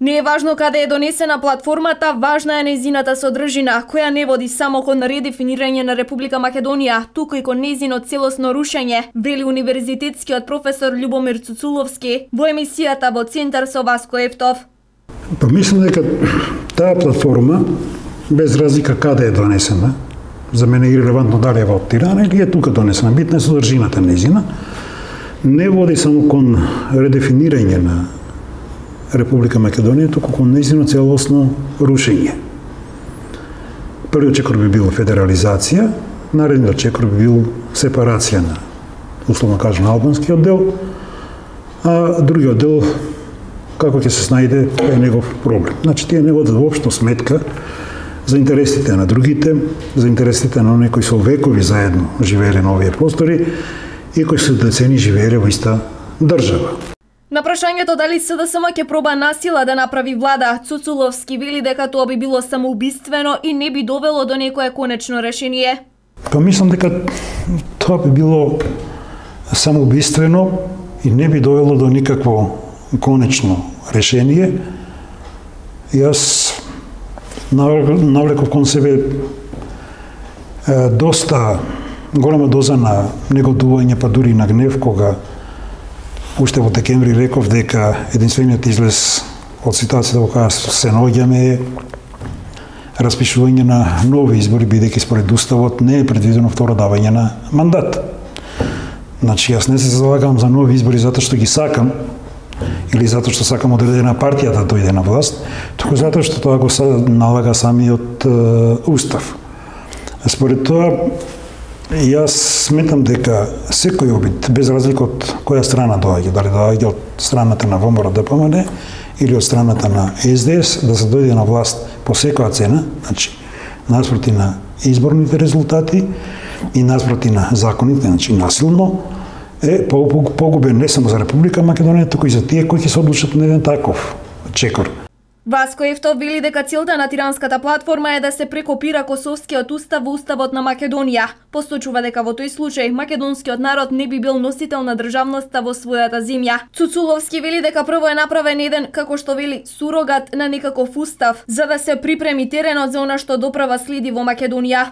Не е важно каде е донесена платформата, важна е нејзината содржина, која не води само кон редефинирање на Република Македонија, туку и кон нејзино целосно рушење, вели универзитетскиот професор Љубомир Цуцуловски во емисијата во Центар со Васко Ефтов. Па мислам дека таа платформа, без разлика каде е донесена, за мене е ирелевантно дали е во Тирана или е тука донесена, битна е содржината нејзина, не води само кон редефинирање на Република Македонија, туку кон нејзино целосно рушење. Првиот чекор би бил федерализација, наредниот чекор би бил сепарација на, условно кажем, албанскиот дел, а другиот дел, како ќе се снајде, е негов проблем. Значи, тие не водат воопшто сметка за интересите на другите, за интересите на оние кои со векови заедно живееле на овие простори и кои со децени живееле во иста држава. На прашањето дали СДСМ ќе проба насила да направи влада, Цуцуловски вели дека тоа би било самоубиствено и не би довело до некое конечно решение. Па мислам дека тоа би било самоубиствено и не би довело до никакво конечно решение. Јас навлеков кон себе доста голема доза на негодување, па дури на гнев, кога уште во декември реков дека единствениот излез од ситуацијата во која се наоѓаме е распишување на нови избори, бидејќи според уставот не е предвидено второ давање на мандат. Значи, јас не се залагам за нови избори затоа што ги сакам, или затоа што сакам одредена партија да дојде на власт, туку затоа што тоа го налага самиот устав. Според тоа, јас сметам дека секој обид, без разлика од која страна доаѓа, дали доаѓа од страната на ВМРО ДПМН или од страната на СДС, да се дојде на власт по секоја цена, значи наспроти на изборните резултати и наспроти на законите, значи насилно, е погубен не само за Република Македонија, туку и за тие кои ќе се одлучат на еден таков чекор. Васко Ефтов вели дека целта на тиранската платформа е да се прекопира Косовскиот устав во уставот на Македонија. Посочува дека во тој случај македонскиот народ не би бил носител на државноста во својата земја. Цуцуловски вели дека прво е направен еден, како што вели, сурогат на некаков устав, за да се припреми теренот за она што доправа следи во Македонија.